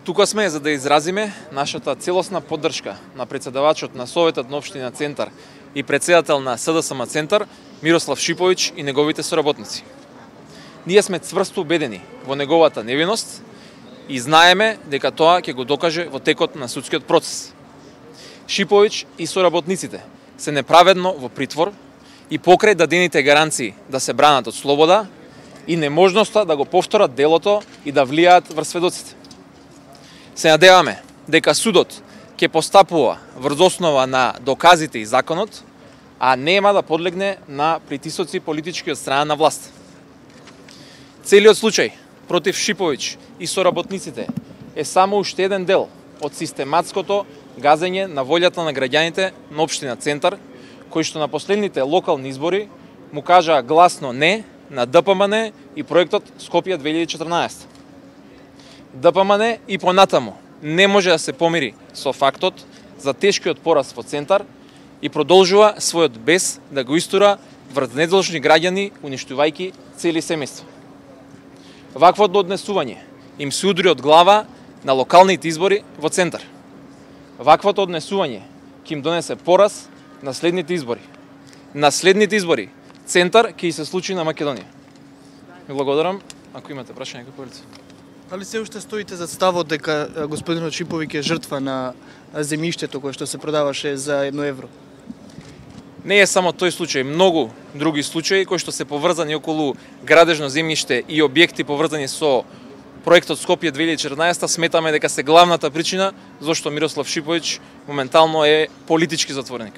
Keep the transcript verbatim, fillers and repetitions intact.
Тука сме за да изразиме нашата целосна поддршка на председавачот на Советот на општина Центар и председател на С Д С М Центар Мирослав Шиповиќ и неговите соработници. Ние сме цврсто убедени во неговата невиност и знаеме дека тоа ќе го докаже во текот на судскиот процес. Шиповиќ и соработниците се неправедно во притвор и покрај дадените гаранции да се бранат од слобода и неможноста да го повторат делото и да влијаат врз сведоците. Се надеваме дека судот ќе постапува врз основа на доказите и законот, а нема да подлегне на притисоци политички од страна на власт. Целиот случај против Шиповиќ и соработниците е само уште еден дел од систематското газење на волјата на граѓаните на општина Центар, кои што на последните локални избори му кажаа гласно не на Д П М Н и проектот Скопје две илјади и четрнаесетта. Д П М Н и понатаму не може да се помири со фактот за тешкиот пораз во Центар и продолжува својот бес да го истура врз недолжни граѓани, уништувајќи цели семејства. Ваквото однесување им се удри од глава на локалните избори во Центар. Ваквото однесување ќе им донесе пораз на следните избори. На следните избори Центар ќе се случи на Македонија. Ви благодарам. Ако имате прашање, како повелите. Дали се уште стоите за ставот дека господинот Шиповиќ е жртва на земјиштето кое што се продаваше за едно евро? Не е само тој случај, многу други случаи кои што се поврзани околу градежно земјиште и објекти поврзани со проектот Скопје две илјади и четрнаесетта, сметаме дека се главната причина зашто Мирослав Шиповиќ моментално е политички затворник.